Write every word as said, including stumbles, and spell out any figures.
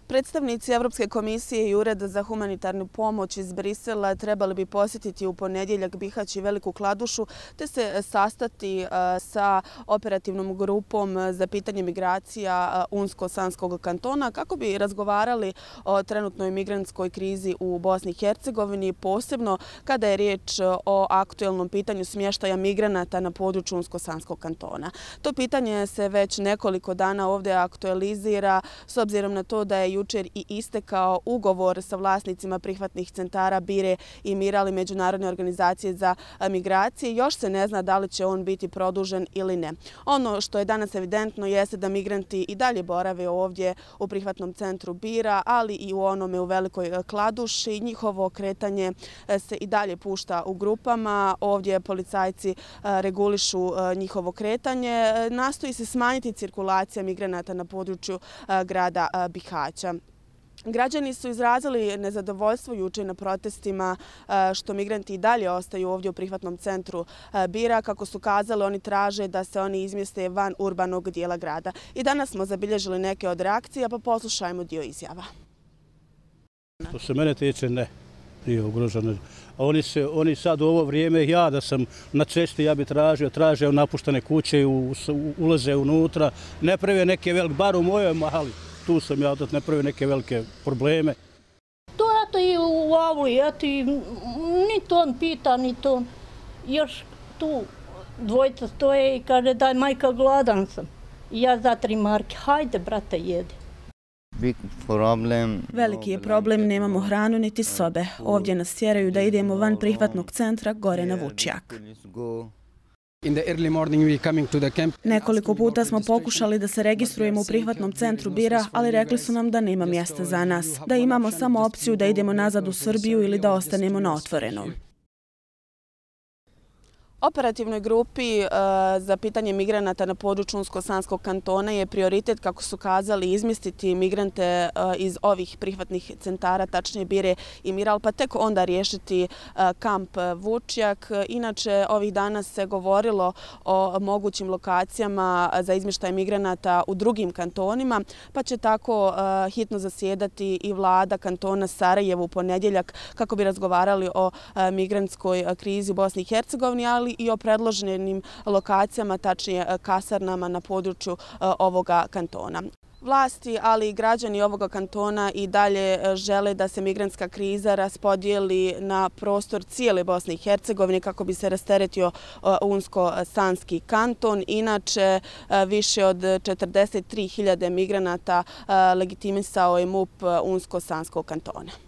Predstavnici Evropske komisije i Ureda za humanitarnu pomoć iz Brisela trebali bi posjetiti u ponedjeljak Bihać i Veliku Kladušu te se sastati sa operativnom grupom za pitanje migracija Unsko-Sanskog kantona kako bi razgovarali o trenutnoj migrantskoj krizi u Bosni i Hercegovini, posebno kada je riječ o aktuelnom pitanju smještaja migranata na području Unsko-Sanskog kantona. To pitanje se već nekoliko dana ovdje aktualizira s obzirom na to da je jučer i istekao ugovor sa vlasnicima prihvatnih centara Bire i Mirali Međunarodne organizacije za migracije. Još se ne zna da li će on biti produžen ili ne. Ono što je danas evidentno jeste da migranti i dalje borave ovdje u prihvatnom centru Bira, ali i u onome u Velikoj Kladuši. Njihovo kretanje se i dalje pušta u grupama. Ovdje policajci regulišu njihovo kretanje. Nastoji se smanjiti cirkulacija migranata na području grada Bihaća. Građani su izrazili nezadovoljstvo juče na protestima što migranti i dalje ostaju ovdje u prihvatnom centru Bira. Kako su kazali, oni traže da se oni izmjeste van urbanog dijela grada. I danas smo zabilježili neke od reakcija, pa poslušajmo dio izjava. Što se mene tiče, ne. Nije ugroženo. Oni, se, oni sad u ovo vrijeme, ja da sam na cesti, ja bi tražio, tražio napuštene kuće, u, ulaze unutra, ne prave neke velike, bar u mojoj mali, tu sam ja, da ne prave neke velike probleme. To eto i u ovoj, eto i ni to on pita, ni to. Još tu dvojica stoje i kaže daj majka gladan sam. I ja za tri marke, hajde brate jedi. Veliki je problem, nemamo hranu niti sobe. Ovdje nas tjeraju da idemo van prihvatnog centra gore na Vučjak. Nekoliko puta smo pokušali da se registrujemo u prihvatnom centru Bira, ali rekli su nam da nema mjesta za nas, da imamo samo opciju da idemo nazad u Srbiju ili da ostanemo na otvorenom. Operativnoj grupi za pitanje migranata na području Unsko-Sanskog kantona je prioritet, kako su kazali, izmjestiti migrante iz ovih prihvatnih centara, tačnije Bire i Miral, pa tek onda riješiti kamp Vučjak. Inače, ovih dana se govorilo o mogućim lokacijama za izmještaj migranata u drugim kantonima, pa će tako hitno zasjedati i vlada kantona Sarajevo u ponedjeljak kako bi razgovarali o migrantskoj krizi u Bosni i Hercegovini, ali i o predloženim lokacijama, tačnije kasarnama na području ovoga kantona. Vlasti, ali i građani ovoga kantona i dalje žele da se migrantska kriza raspodijeli na prostor cijele Bosne i Hercegovine kako bi se rasteretio Unsko-Sanski kanton. Inače, više od četrdeset tri hiljade migranata legitimisao je MUP Unsko-Sanskog kantona.